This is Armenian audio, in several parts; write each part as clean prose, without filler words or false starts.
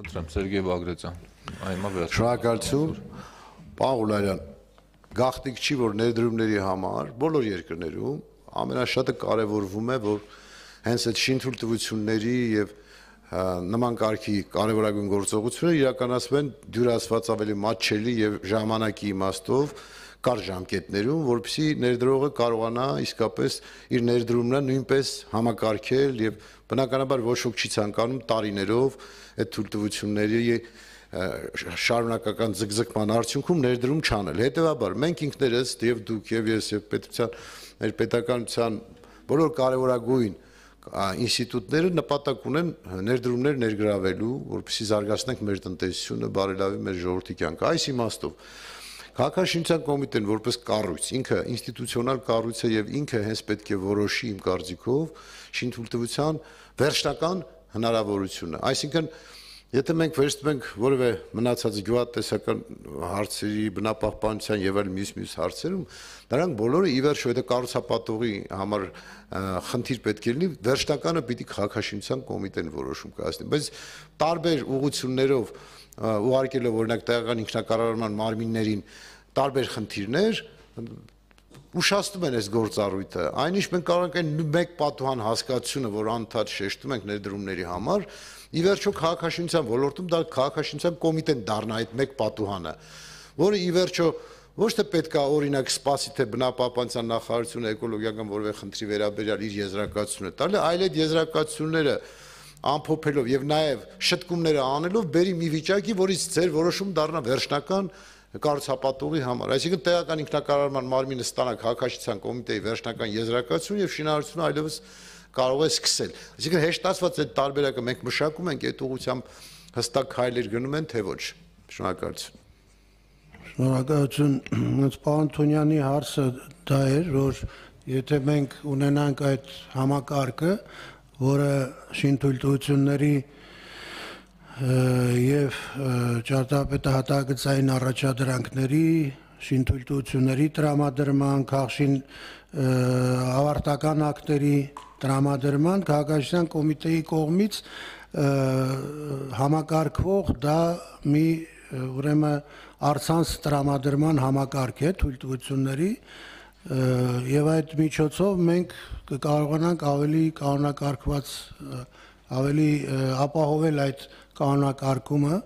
Խնդրեմ, Սերգեյ Բագրատյան, այմա վերջ։ Շնորհակալություն, պարոն Ղուլարյան, գաղտնիք չի, որ ներդրումների համար բոլոր երկրներում ամենաշատը կարևորվում է, որ հենց այդ շինթույլտվությունների եւ նման կարգի կարևորագույն գործողությունները իրականացվեն դյուրացված ավելի մատչելի եւ ժամանակի իմաստով կար ժամկետներում, որպեսզի ներդրողը կարողանա իսկապես իր ներդրումն նույնպես համակարգել եւ բնականաբար ոչ ոք չի ցանկանում տարիներով այդ թույլտվությունների շարունակական ձգձգման արդյունքում ներդրում չանել։ Հետևաբար մենք ինքներս եւ դուք եւ ես եւ պետության պետականության բոլոր կարևորագույն ինստիտուտները նպատակ ունեն ներդրումներ ներգրավելու, որպեսզի զարգացնենք մեր տնտեսությունը, բարելավի մեր ժողովրդի կյանքը։ Այս իմաստով Քաղաքաշինության կոմիտեն որպես կառույց, ինքը ինստիտուցիոնալ կառույց է եւ ինքը հենց պետք է որոշի իմ կարծիքով շինթույլտվության վերջնական հնարավորությունը։ Այսինքն, եթե մենք վերցնում ենք որևէ մնացած գյուղատնտեսական հարցերի, բնապահպանության եւ այլ մյուս հարցերում, դրանք բոլորը ի վերջո եթե կառուցապատողի համար խնդիր պետք է լինի, վերջնականը պիտի Քաղաքաշինության կոմիտեն որոշում կայացնի, բայց տարբեր ուղղություններով ուղարկելով օրինակ տեղական ինքնակառավարման մարմիններին տարբեր խնդիրներ ուշացնում են այս գործառույթը, այնինչ մենք կարող ենք մեկ պատուհան հասկացությունը, որ անդադ շեշտում ենք ներդրումների համար, ի վերջո քաղաքաշինության ոլորտում դա քաղաքաշինության կոմիտեն դառնա այդ մեկ պատուհանը, որը ի վերջո ոչ թե պետք է օրինակ սպասի թե բնապահպանության նախարարությունը էկոլոգիական որևէ խնդրի վերաբերյալ իր եզրակացությունը տալը, այլ այդ եզրակացությունները ամփոփելով եւ նաեւ շտկումները անելով բերի մի վիճակի, որից ձեր որոշում դառնա վերջնական կառուցապատողի համար։ Այսինքն տեղական ինքնակառավարման մարմինը ստանա քաղաքաշինության կոմիտեի վերջնական եզրակացություն եւ շինարարությունը այլևս կարող է սկսել։ Այսինքն հեշտացված այդ տարբերակը մենք մշակում ենք, այդ ուղղությամբ հստակ քայլեր գնում են, թե ոչ։ Շնորհակալություն։ Շնորհակալություն։ Պարոն Թունյանի հարցը դա էր, որ եթե մենք ունենանք այդ համակարգը, որը շինթույլտվությունների եւ ճարտարապետահատակցային առաջադրանքների, շինթույլտվությունների տրամադրման, քաղաքաշին ավարտական ակտերի տրամադրման քաղաքաշինության կոմիտեի կողմից համակարգվող դա մի ուրեմն առցանց տրամադրման համակարգ է թույլտվությունների եւ այդ միջոցով մենք կկարողանանք ավելի կանոնակարգված ավելի ապահովել այդ կանոնակարգումը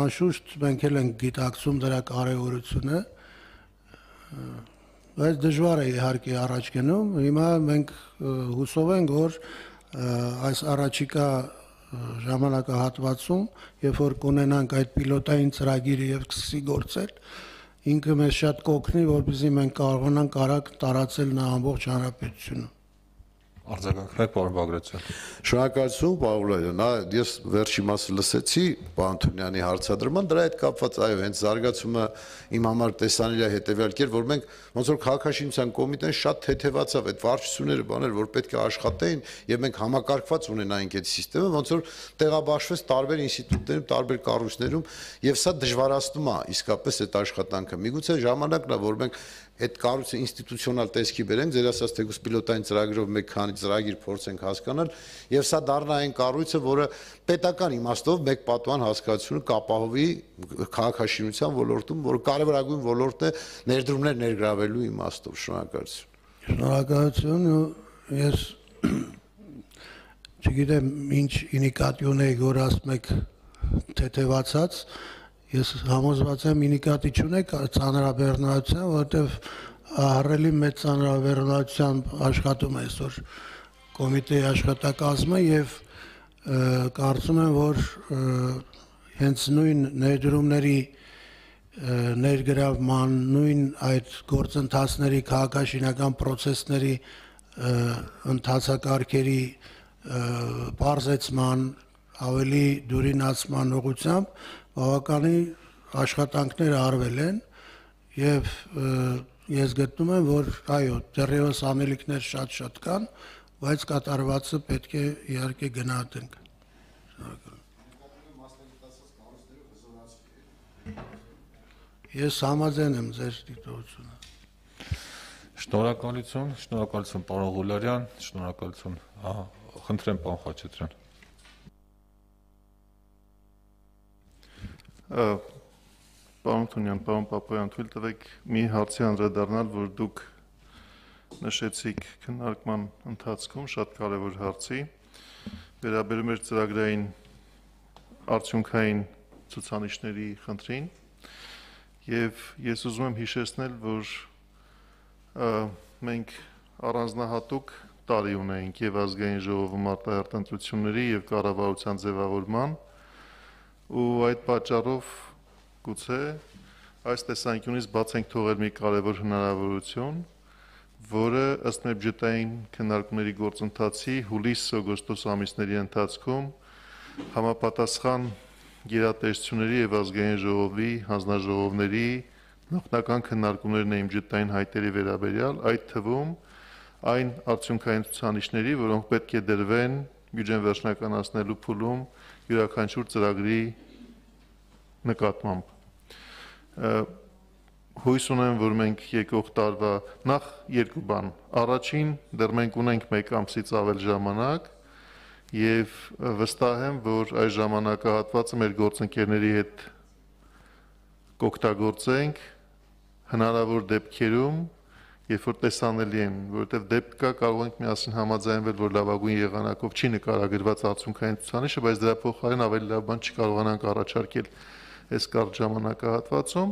անշուշտ մենք էլ ենք գիտակցում դրա կարեւորությունը բայց դժվար է իհարկե առաջ գնում հիմա մենք հուսով ենք որ այս առաջիկա ժամանակահատվածում երբ որ կունենանք այդ պիլոտային ծրագիրը եւ սկսի գործել ինքը մեզ շատ կօգնի որպեսզի մենք կարողանանք արագ տարածել նա ամբողջ հանրապետությունում Արձագանքներ, պարոն Բագրատյան։ Շնորհակալություն, պարոն Ղուլարյան։ Ես վերջի մասը լսեցի պարոն Թունյանի հարցադրման, դրա հետ կապված այո, հենց զարգացումը իմ համար տեսանելի է հետեւյալ կերպ, որ մենք ոնց որ քաղաքաշինության կոմիտեն շատ թեթևացավ այդ վարչությունները, բաներ, որ պետք է աշխատեին, եւ մենք համակարգված ունենայինք այդ համակարգը, ոնց որ տեղաբաշխվեց տարբեր ինստիտուտներում, տարբեր կառույցներում, եւ սա դժվարացնում է իսկապես այդ աշխատանքը։ Միգուցե ժամանակն է, որ մենք այդ կառույցը ինստիտուցիոնալ տեսքի բերենք, ձեր ասած թեկուզ պիլոտային ծրագրով մեկ քանի ծրագիր փորձենք հասկանալ, եւ սա դառնա այն կառույցը, որը պետական իմաստով մեկ պատուհան հասկացությունը կապահովի քաղաքաշինության ոլորտում, որը կարևորագույն ոլորտն է ներդրումներ ներգրավելու իմաստով։ Շնորհակալություն։ Շնորհակալություն, ես չգիտեմ ինչ ինիկատիվ եք, որ ասում եք թեթևացած Ես համոզված եմ ինիկատի չունեք ծանրաբեռնվածության, որովհետև ահռելի մեծ ծանրաբեռնվածությամբ աշխատում է այսօր կոմիտեի աշխատակազմը եւ կարծում եմ, որ հենց նույն ներդրումների ներգրավման, նույն այդ գործընթացների քաղաքաշինական process-ների ընթացակարգերի բարձեցման, ավելի դյուրինացման ուղղությամբ բավականին աշխատանքներ արվել են եւ ես գտնում եմ որ այո դեռևս անելիքներ շատ կան բայց կատարվածը պետք է իհարկե գնահատենք Ես համաձայն եմ ձեր դիտողությունը Շնորհակալություն պարոն Ղուլարյան, շնորհակալություն, խնդրեմ պարոն Խաչատրյան Պարոն Թունյան, պարոն Պապոյան, թույլ տվեք մի հարցի անդրադառնալ, որ դուք նշեցիք քննարկման ընթացքում շատ կարևոր հարցի, վերաբերում էր ծրագրային արդյունքային ցուցանիշների խնդրին, եւ ես ուզում եմ հիշեցնել, որ մենք առանձնահատուկ տարի ունենք եւ ազգային ժողովում արտահերտ ընտրությունների եւ կառավարության ձևավորման ու այդ պատճառով գուցե այս տեսանկյունից բաց ենք թողել մի կարևոր հնարավորություն, որը ըստ մեր բյուջետային քննարկումների գործընթացի հուլիս-օգոստոս ամիսների ընթացքում համապատասխան գերատեսչությունների եւ ազգային ժողովի հանձնաժողովների նախնական քննարկումներն էին բյուջետային հայտերի վերաբերյալ, այդ թվում այն արդյունքային ցուցանիշների, որոնք պետք է դրվեն բյուջեն վերջնականացնելու փուլում յուրաքանչյուր ծրագրի նկատմամբ։ Հույս ունեմ, որ մենք եկող տարվա նախ երկու բան։ Առաջին, դեռ մենք ունենք 1 ամսից ավել ժամանակ եւ վստահ եմ, որ այս ժամանակահատվածը մեր գործընկերների հետ կօգտագործենք հնարավոր դեպքերում, երբ որ տեսանելի են, որովհետեւ դեպք կա կարող ենք միասին համաձայնվել, որ լավագույն եղանակով չի նկարագրված արդյունքային ցուցանիշը, բայց դրա փոխարեն ավելի լավ բան չկարողանանք առաջարկել այս կարճ ժամանակահատվածում։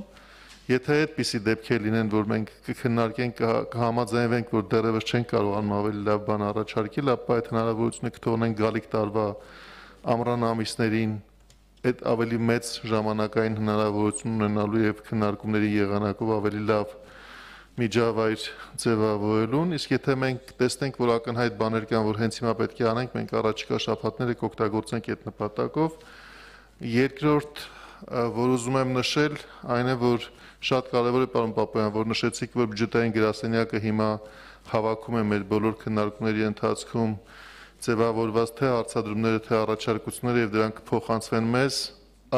Եթե այդպիսի դեպքեր լինեն, որ մենք կքննարկենք, կհամաձայնվենք, որ դեռևս չենք կարողանում ավելի լավ բան առաջարկել, ապա այդ հնարավորությունը կթողնենք գալիք տարվա ամռան ամիսներին այդ ավելի մեծ ժամանակային հնարավորություն ունենալու եւ քննարկումների եղանակով ավելի լավ միջավայր ձևավորելուն, իսկ եթե մենք տեսնենք, որ ակնհայտ բաներ կան, որ հենց հիմա պետք է անենք, մենք առաջիկա շաբաթները կօգտագործենք այդ նպատակով։ Երկրորդ, որ ուզում եմ նշել, այն է, որ շատ կարևոր է, պարոն Պապոյան, որ նշեցիք, որ բյուջետային գրասենյակը հիմա հավաքում է մեր բոլոր քննարկումների ընթացքում ձևավորված թե հարցադրումները, թե առաջարկությունները եւ դրանք կփոխանցվեն մեզ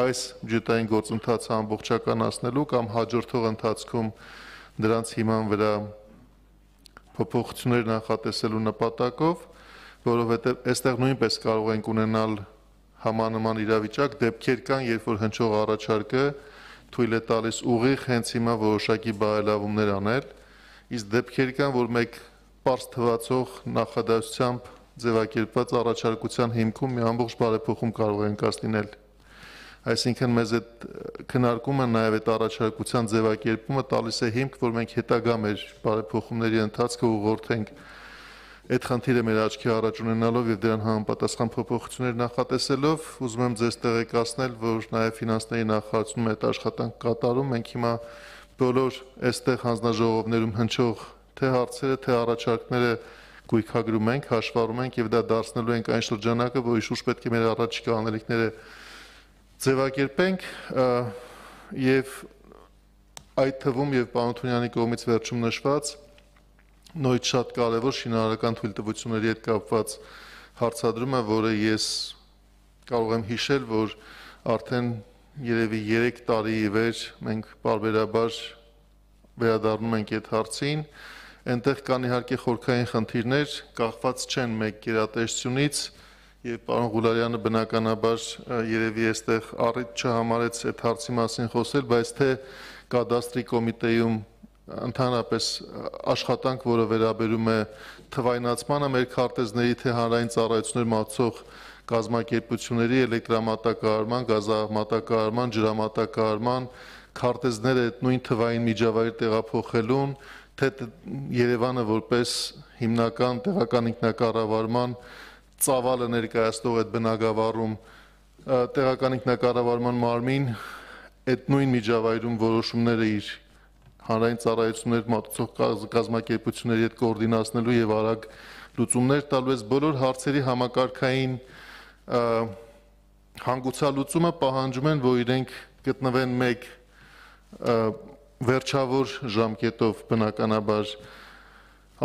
այս բյուջետային գործընթացը ամբողջականացնելու կամ հաջորդող ընթացքում դրանց հիման վրա փոփոխություններ նախատեսելու նպատակով, որովհետեւ այստեղ նույնպես կարող ենք ունենալ համանման իրավիճակ, դեպքեր կան, երբ որ հնչող առաջարկը թույլ է տալիս ուղիղ հենց հիմա որոշակի բարելավումներ անել, իսկ դեպքեր կան, որ մեկ պարզ թվացող նախադասությամբ ձևակերպված առաջարկության հիմքում մի ամբողջ բարեփոխում կարող են կազմել։ Այսինքն մեզ այդ քննարկումը նաև այդ առաջարկության ձևակերպումը տալիս է հիմք, որ մենք հետագա մեր բարեփոխումների ընթացքը ուղղորդենք այդ խնդիրը մեր աչքի առաջ ունենալով եւ դրան համապատասխան փոփոխություններ նախատեսելով, ուզում եմ ձեզ տեղեկացնել, որ նաև ֆինանսների նախարարությունում այդ աշխատանք կատարում, մենք հիմա բոլոր այստեղ հանձնաժողովներում հնչող թե հարցերը, թե առաջարկները գույքագրում ենք, հաշվառում ենք եւ դա դարձնելու ենք այն շրջանակը, որի շուրջ պետք է մեր առաջիկա անելիքները ձևակերպենք եւ այդ թվում եւ պարոն Թունյանի կողմից վերջում նշված նույն շատ կարևոր շինարարական թույլտվությունների հետ կապված հարցադրումը, որը ես կարող եմ հիշել, որ արդեն երևի 3 տարի ի վեր մենք բարբերաբար վերադառնում ենք այդ հարցին, այնտեղ կան իհարկե խորքային խնդիրներ, կախված չեն մեկ գերատեսչությունից եւ պարոն Ղուլարյանը բնականաբար երևի այստեղ առիթ չհամարեց այդ հարցի մասին խոսել, բայց թե կադաստրի կոմիտեում ընդհանրապես աշխատանք, որը վերաբերում է թվայնացմանը մեր քարտեզների թե հանրային ծառայություններ մատուցող կազմակերպությունների էլեկտրամատակարարման, գազամատակարարման, ջրամատակարարման քարտեզները այդ նույն թվային միջավայր տեղափոխելուն, թե Երևանը որպես հիմնական տեղական ինքնակառավարման ծավալը ներկայացնող այդ բնակավարում տեղական ինքնակառավարման մարմին այդ նույն միջավայրում որոշումները իր հանրային ծառայություններ մատուցող կազմակերպությունների հետ կոորդինացնելու եւ արագ լուծումներ տալու այս բոլոր հարցերի համակարգային հանգուցալուծումը պահանջում են, որ իրենք գտնվեն մեկ վերջավոր ժամկետով բնականաբար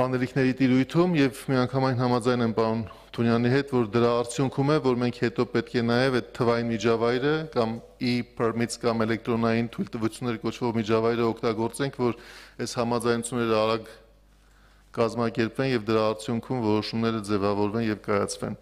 անելիքների տիրույթում եւ միանգամայն համաձայն եմ պարոն Թունյանի հետ, որ դրա արդյունքում է, որ մենք հետո պետք է նաեւ այդ թվային միջավայրը կամ e-permits կամ էլեկտրոնային թույլտվություններ կոչվող միջավայրը օգտագործենք, որ այս համաձայնությունները արագ կազմակերպվեն եւ դրա արդյունքում որոշումները ձևավորվեն եւ կայացվեն։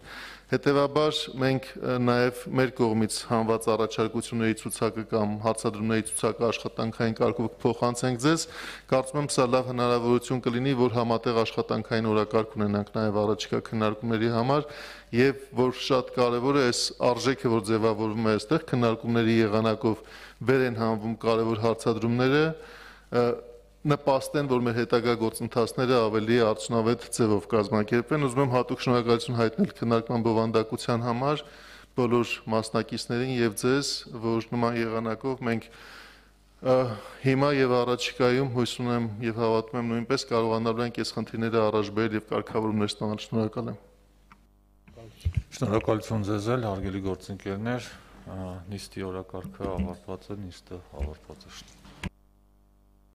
Հետևաբար մենք նաև մեր կողմից հանված առաջարկությունների ցուցակը կամ հարցադրումների ցուցակը աշխատանքային կարգով փոխանցենք ձեզ։ Կարծում եմ սա լավ հնարավորություն կլինի, որ համատեղ աշխատանքային օրակարգ ունենանք նաև առաջիկա քննարկումների համար եւ որ շատ կարեւոր է այս արժեքը, որ ձևավորվում է այստեղ քննարկումների եղանակով վեր են հանվում կարեւոր հարցադրումները, նպաստեն, որ մեր հետագա գործընթացները ավելի արդյունավետ ձևով կազմակերպվեն։ Ուզում եմ հատուկ շնորհակալություն հայտնել քննարկման բովանդակության համար բոլոր մասնակիցներին եւ ձեզ, որ նման եղանակով մենք հիմա եւ առաջիկայում հույս ունեմ եւ հավատում եմ նույնպես կարողանալու ենք այս խնդիրները առաջ բերել եւ կարգավորումներ ստանալ։ Շնորհակալ եմ։ Շնորհակալություն ձեզ էլ, հարգելի գործընկերներ, նիստի օրակարգը ավարտված է, նիստը ավարտված է։